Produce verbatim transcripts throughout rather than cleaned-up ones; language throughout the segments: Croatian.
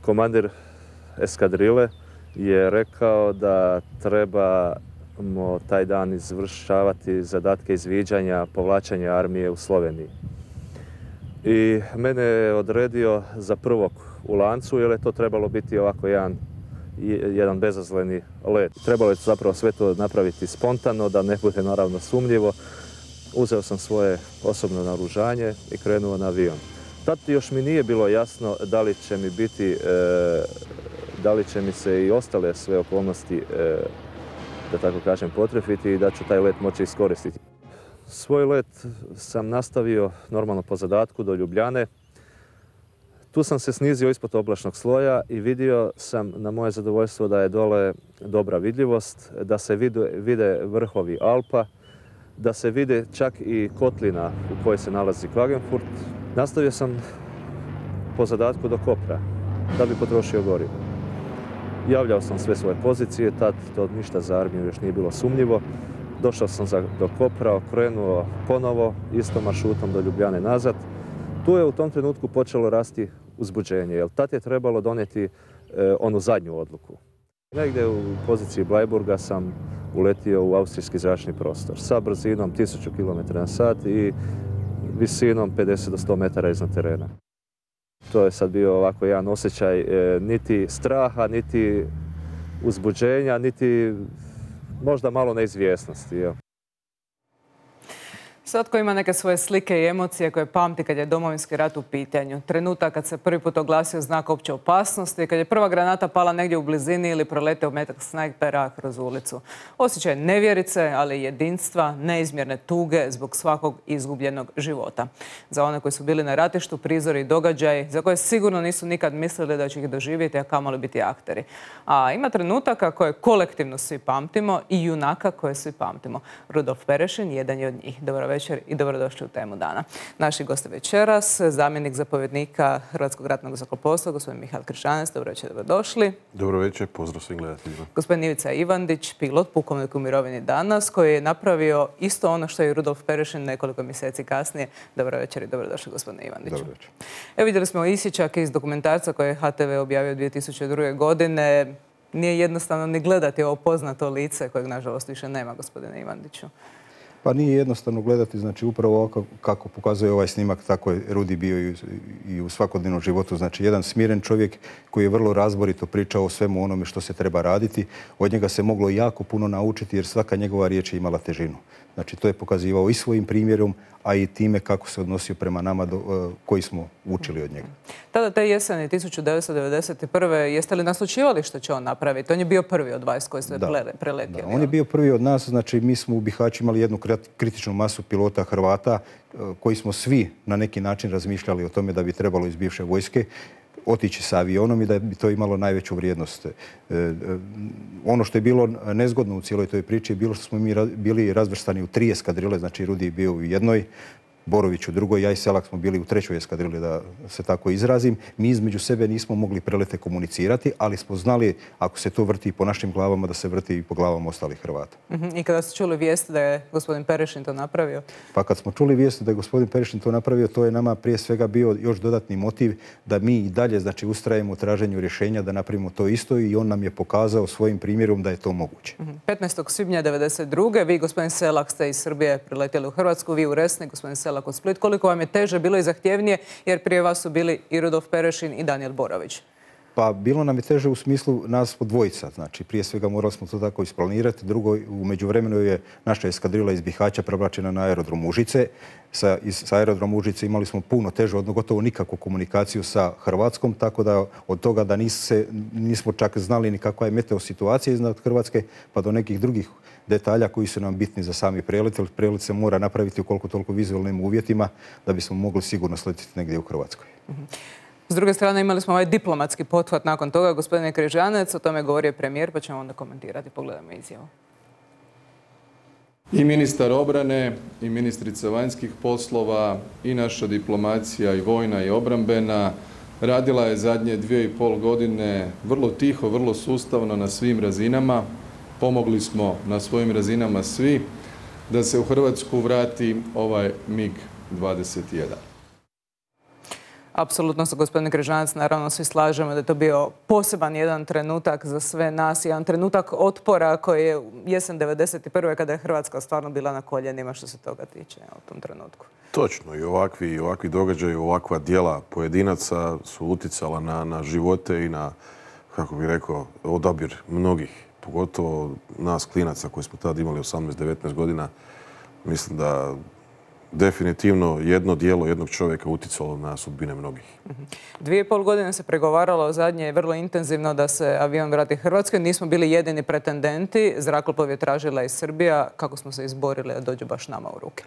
Komandir eskadrile je rekao da trebamo taj dan izvršavati zadatke izviđanja, povlačenja armije u Sloveniji. I mene je odredio za prvog u lancu, jer je to trebalo biti ovako jedan, jedan bezazleni let. Trebalo je zapravo sve to napraviti spontano, da ne bude naravno sumnjivo. Uzeo sam svoje osobno naoružanje i krenuo na avion. Tad još mi nije bilo jasno da li će mi biti, e, da li će mi se i ostale sve okolnosti, e, da tako kažem, potrefiti i da ću taj let moći iskoristiti. Svoj let sam nastavio normalno po zadatku do Ljubljane. Tu sam se snizio ispod oblačnog sloja i vidio sam na moje zadovoljstvo da je dole dobra vidljivost, da se vide, vide vrhovi Alpa, da se vide čak i kotlina u kojoj se nalazi Klagenfurt. Nastavio sam po zadatku do Kopra, da bi potrošio gorivo. Javljao sam sve svoje pozicije, tad to ništa za armiju još nije bilo sumnjivo. Došao sam do Kopra, okrenuo ponovo, istom maršrutom do Ljubljane nazad. Tu je u tom trenutku počelo rasti uzbuđenje, jer tad je trebalo donijeti e, onu zadnju odluku. Negdje u poziciji Blajburga sam uletio u austrijski zračni prostor sa brzinom tisuću kilometara na sat i visinom pedeset do sto metara iznad terena. To je sad bio ovako jedan osjećaj e, niti straha, niti uzbuđenja, niti možda malo neizvjesnosti. Jo. Svatko ima neke svoje slike i emocije koje pamti kad je Domovinski rat u pitanju. Trenutak kad se prvi put oglasio znak opće opasnosti, kad je prva granata pala negdje u blizini ili proleteo metak snajpera kroz ulicu. Osjećaj nevjerice, ali i jedinstva, neizmjerne tuge zbog svakog izgubljenog života. Za one koji su bili na ratištu, prizori i događaji za koje sigurno nisu nikad mislili da će ih doživjeti, a kamoli biti akteri. A ima trenutaka koje kolektivno svi pamtimo i junaka koje svi pamtimo. Rudolf Perešin jedan je od njih. Dobro večer i dobrodošli u Temu dana. Naši gosti večeras, zamjenik zapovjednika Hrvatskog ratnog zrakoplovstva, gospodin Mihael Križanec. Dobro večer, dobrodošli. Dobro večer, pozdrav svim gledateljima. Gospodin Ivica Ivandić, pilot, pukovnik u mirovini danas, koji je napravio isto ono što je i Rudolf Perešin nekoliko mjeseci kasnije. Dobro večer i dobrodošli, gospodine Ivandiću. Dobro večer. Evo, vidjeli smo isječak iz dokumentarca koje je H T V objavio dvije tisuće druge. godine. Nije jednostavno ni gledati ovo poznato lice kojeg, nažalost, više nema, gospodine Ivandiću. Pa nije jednostavno gledati, znači upravo ovako kako pokazuje ovaj snimak, tako je Rudi bio i u svakodnevnom životu. Znači jedan smiren čovjek koji je vrlo razborito pričao o svemu onome što se treba raditi. Od njega se moglo jako puno naučiti jer svaka njegova riječ je imala težinu. Znači to je pokazivao i svojim primjerom, a i time kako se odnosio prema nama do, koji smo učili od njega. Tada te jeseni tisuću devetsto devedeset prve. jeste li naslućivali što će on napraviti? On je bio prvi od vas koji ste preletjeli. Da, on je bio prvi od nas. Znači mi smo u Bihaću imali jednu kritičnu masu pilota Hrvata koji smo svi na neki način razmišljali o tome da bi trebalo iz bivše vojske otići sa avionom i da bi to imalo najveću vrijednost. E, ono što je bilo nezgodno u cijeloj toj priči je bilo što smo mi bili razvrstani u tri eskadrile, znači Rudi je bio u jednoj, Borović u drugoj, ja i Selak smo bili u trećoj eskadrili, da se tako izrazim. Mi između sebe nismo mogli prelete komunicirati, ali smo znali, ako se to vrti po našim glavama, da se vrti i po glavama ostalih Hrvata. Uh-huh. I kada ste čuli vijest da je gospodin Perešin to napravio? Pa kad smo čuli vijest da je gospodin Perešin to napravio, to je nama prije svega bio još dodatni motiv da mi i dalje, znači, ustrajemo u traženju rješenja da napravimo to isto i on nam je pokazao svojim primjerom da je to moguće. Uh-huh. petnaestog svibnja devedeset druge. vi, gospodin Selak, ste iz Srbije priletjeli u Hrvatsku, vi u Resnik, gospodin Selak od Split. Koliko vam je teže bilo i zahtjevnije, jer prije vas su bili i Rudolf Perešin i Danijel Borović? Pa bilo nam je teže u smislu nas po dvojica. Znači prije svega morali smo to tako isplanirati. Drugo, u međuvremenu je naša eskadrila iz Bihaća prebačena na aerodrom Užice. Sa, iz, sa aerodrom Užice imali smo puno teže, odnosno gotovo nikakvu komunikaciju sa Hrvatskom, tako da od toga da nis se, nismo čak znali ni kakva je meteo situacija iznad Hrvatske, pa do nekih drugih detalja koji su nam bitni za sami prelet. Prelet se mora napraviti u koliko toliko vizualnim uvjetima da bismo mogli sigurno sletiti negdje u Hrvatskoj. Mm-hmm. S druge strane imali smo ovaj diplomatski pothvat nakon toga. Gospodine Križanec, o tome je govorio premijer, pa ćemo onda komentirati. Pogledajmo izjavu. I ministar obrane, i ministrica vanjskih poslova, i naša diplomacija, i vojna, i obrambena, radila je zadnje dvije i pol godine vrlo tiho, vrlo sustavno na svim razinama. Pomogli smo na svojim razinama svi da se u Hrvatsku vrati ovaj mig dvadeset jedan. Apsolutno se, gospodine Križanac, naravno svi slažemo da je to bio poseban jedan trenutak za sve nas, jedan trenutak otpora koji je jesen devedeset prve kada je Hrvatska stvarno bila na koljenima što se toga tiče u tom trenutku. Točno, i ovakvi, i ovakvi događaji, ovakva djela pojedinaca su uticala na, na živote i na, kako bih rekao, odabir mnogih, pogotovo nas klinaca koji smo tada imali osamnaest devetnaest godina. Mislim da definitivno jedno djelo jednog čovjeka uticalo na sudbine mnogih. Dvije i pol godine se pregovaralo zadnje vrlo intenzivno da se avion vrati Hrvatskoj. Nismo bili jedini pretendenti. Zrakoplov je tražila i Srbija. Kako smo se izborili da dođu baš nama u ruke?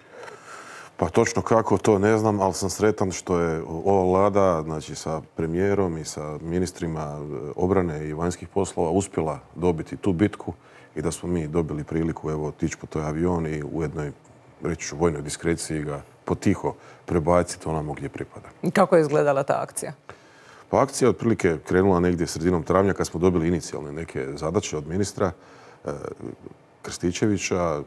Pa točno kako, to ne znam, ali sam sretan što je ova vlada, znači sa premijerom i sa ministrima obrane i vanjskih poslova uspjela dobiti tu bitku i da smo mi dobili priliku evo otići po toj avion i u jednoj, reći ću, vojnoj diskreciji ga potiho prebaciti onamo gdje pripada. Kako je izgledala ta akcija? Pa akcija otprilike krenula negdje sredinom travnja kad smo dobili inicijalne neke zadaće od ministra e, Krstičevića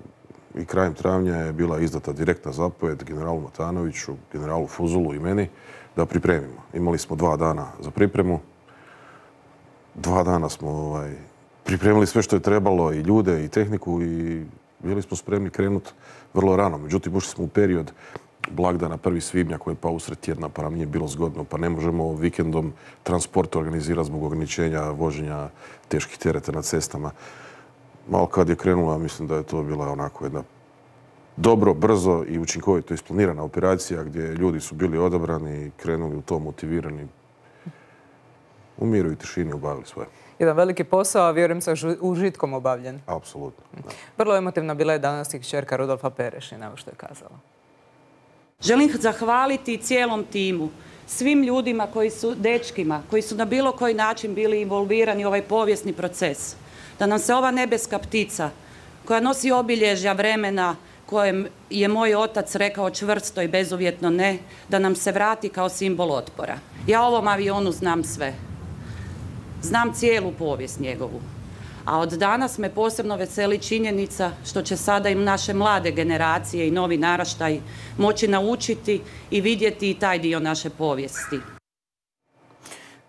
i krajem travnja je bila izdata direktna zapovjed generalu Matanoviću, generalu Fuzulu i meni da pripremimo. Imali smo dva dana za pripremu. Dva dana smo ovaj, pripremili sve što je trebalo, i ljude, i tehniku, i bili smo spremni krenuti vrlo rano. Međutim, ušli smo u period blagdana prvi svibnja koji je pao usred tjedna, pa nam nije bilo zgodno, pa ne možemo vikendom transport organizirati zbog ograničenja voženja teških tereta na cestama. Malo kad je krenula, mislim da je to bila onako jedna dobro, brzo i učinkovito isplanirana operacija gdje ljudi su bili odabrani i krenuli u to motivirani. U miru i tišini obavili svoje. Jedan veliki posao, a vjerujem sa užitkom obavljen. Apsolutno. Da. Vrlo emotivna bila je danas i kćerka Rudolfa Perešina, evo što je kazala. Želim zahvaliti cijelom timu, svim ljudima koji su, dečkima, koji su na bilo koji način bili involvirani u ovaj povijesni proces. Da nam se ova nebeska ptica, koja nosi obilježja vremena kojem je moj otac rekao čvrsto i bezuvjetno ne, da nam se vrati kao simbol otpora. Ja o ovom avionu znam sve. Znam cijelu povijest njegovu. A od danas me posebno veseli činjenica što će sada i naše mlade generacije i novi naraštaj moći naučiti i vidjeti i taj dio naše povijesti.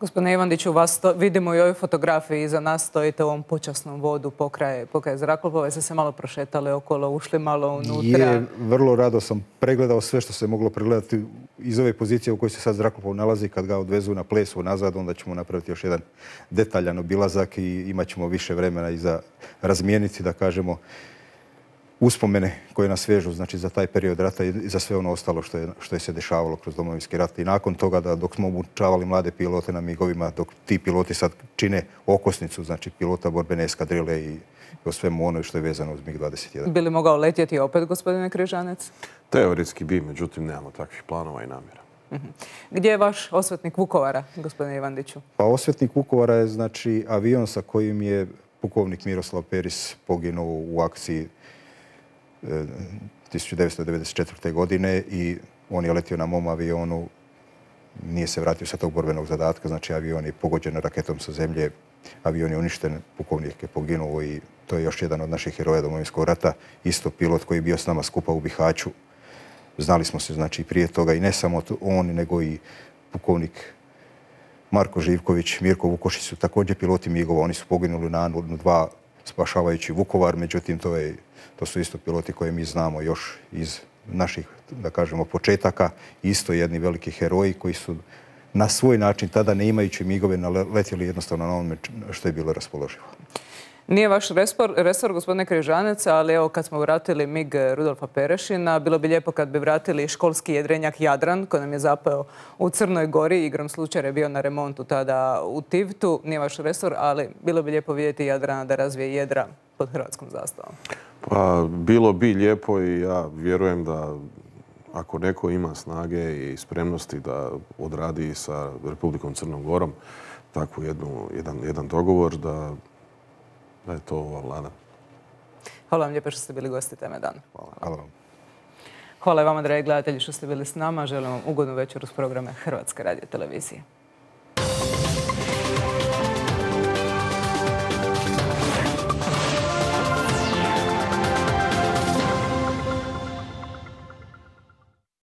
Gospodine Ivandiću, vas to, vidimo i u ovoj fotografiji iza nas stojite u ovom počasnom vodu pokraj, pokraj zrakoplova. Ste se malo prošetali okolo, ušli malo unutra. Je, vrlo rado sam pregledao sve što se moglo pregledati iz ove pozicije u kojoj se sad zrakoplov nalazi. Kad ga odvezu na plesu nazad, onda ćemo napraviti još jedan detaljan obilazak i imat ćemo više vremena i za razmijeniti, da kažemo, uspomene koje nas vežu, znači, za taj period rata i za sve ono ostalo što je, što je se dešavalo kroz Domovinski rat. I nakon toga, da dok smo obučavali mlade pilote na migovima, dok ti piloti sad čine okosnicu, znači pilota borbene eskadrile i o svemu ono što je vezano uz mig dvadeset jedan. Bi li mogao letjeti opet, gospodine Križanec? Teoretski bi, međutim nemamo takvih planova i namjera. Uh-huh. Gdje je vaš osvetnik Vukovara, gospodine Ivandiću? Pa osvetnik Vukovara je, znači, avion sa kojim je pukovnik Miroslav Peris poginuo u akciji tisuću devetsto devedeset četvrte. godine i on je letio na mom avionu, nije se vratio sa tog borbenog zadatka, znači avion je pogođen raketom sa zemlje, avion je uništen, pukovnik je poginuo i to je još jedan od naših heroja Domovinskog rata, isto pilot koji je bio s nama skupa u Bihaću. Znali smo se, znači, prije toga i ne samo on, nego i pukovnik Marko Živković, Mirko Vukošić su također piloti migova, oni su poginuli na Anu dva spašavajući Vukovar, međutim to je To su isto piloti koje mi znamo još iz naših, da kažemo, početaka. Isto jedni veliki heroji koji su na svoj način, tada ne imajući migove, letjeli jednostavno na onome što je bilo raspoloživo. Nije vaš resor, resor, gospodine Križanec, ali evo kad smo vratili mig Rudolfa Perešina, bilo bi lijepo kad bi vratili školski jedrenjak Jadran, koji nam je zapeo u Crnoj Gori. Igrom slučaja je bio na remontu tada u Tivtu. Nije vaš resor, ali bilo bi lijepo vidjeti Jadrana da razvije jedra pod hrvatskom zastavom. Pa bilo bi lijepo i ja vjerujem da ako neko ima snage i spremnosti da odradi sa Republikom Crnom Gorom takvu jednu, jedan, jedan dogovor, da, da je to ova vlada. Hvala vam lijepo što ste bili gosti Teme dana. Hvala. Hvala vam. Hvala i vama, dragi gledatelji, što ste bili s nama. Želim vam ugodnu večer uz programe Hrvatske radiotelevizije.